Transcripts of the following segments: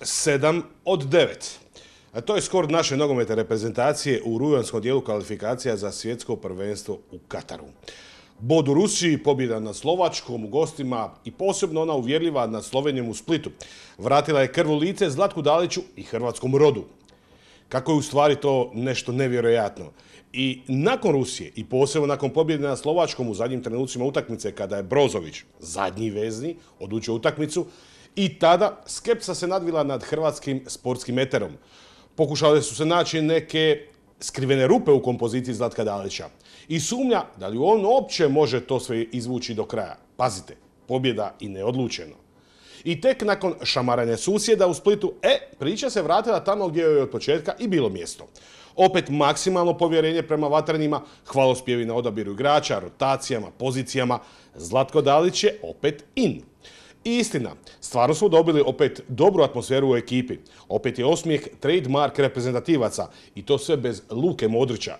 7 od 9. To je skor naše nogometne reprezentacije u rujanskom dijelu kvalifikacija za svjetsko prvenstvo u Kataru. Bod u Rusiji, pobjeda nad Slovačkom u gostima i posebno ona uvjerljiva nad Slovenijom u Splitu vratila je krv u lice Zlatku Daliću i hrvatskom rodu. Kako je u stvari to nešto nevjerojatno. I nakon Rusije i posebno nakon pobjede nad Slovačkom u zadnjim trenucima utakmice kada je Brozović, zadnji vezni, odlučio utakmicu, i tada skepsa se nadvila nad hrvatskim sportskim eterom. Pokušale su se naći neke skrivene rupe u kompoziciji Zlatka Dalića i sumnja da li on uopće može to sve izvući do kraja. Pazite, pobjeda i neodlučeno. I tek nakon šamaranja susjeda u Splitu, priča se vratila tamo gdje joj je od početka i bilo mjesto. Opet maksimalno povjerenje prema vatrenima, hvalospjevi na odabiru igrača, rotacijama, pozicijama. Zlatko Dalić je opet in. I istina, stvarno smo dobili opet dobru atmosferu u ekipi. Opet je osmijeh trademark reprezentativaca i to sve bez Luke Modrića.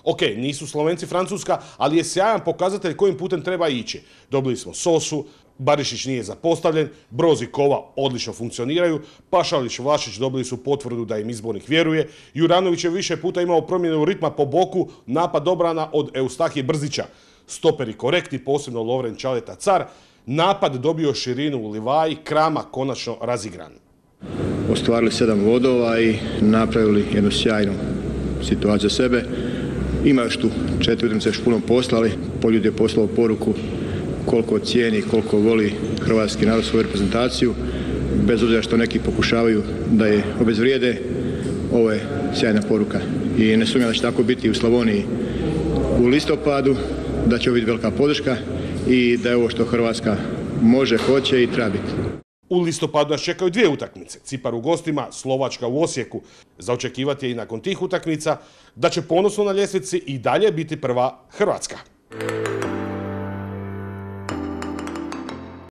Ok, nisu Slovenci Francuska, ali je sjajan pokazatelj kojim putem treba ići. Dobili smo Sosu, Barišić nije zapostavljen, Broz i Kova odlično funkcioniraju, Pašalić, Vlašić dobili su potvrdu da im izbornik vjeruje, Juranović je više puta imao promjenu ritma po boku, napad obrana od Eustahije Brzića. Stoperi korektni, posebno Lovren Čaleta Car, napad dobio širinu u Livaji, Krama konačno razigran. Ostvarili 7 bodova i napravili jednu sjajnu situaciju za sebe. Ima još tu 4 utakmice još puno posla, ali Poljud je poslao poruku koliko cijeni, koliko voli hrvatski narod svoju reprezentaciju. Bez obzira što neki pokušavaju da je obezvrijede, ovo je sjajna poruka. I ne sumnjam da će tako biti u Slavoniji u listopadu, da će ovo biti velika podrška i da je ovo što Hrvatska može, hoće i treba biti. U listopadu nas čekaju 2 utakmice. Cipar u gostima, Slovačka u Osijeku. Za očekivati je i nakon tih utakmica da će ponosno na ljestvici i dalje biti prva Hrvatska.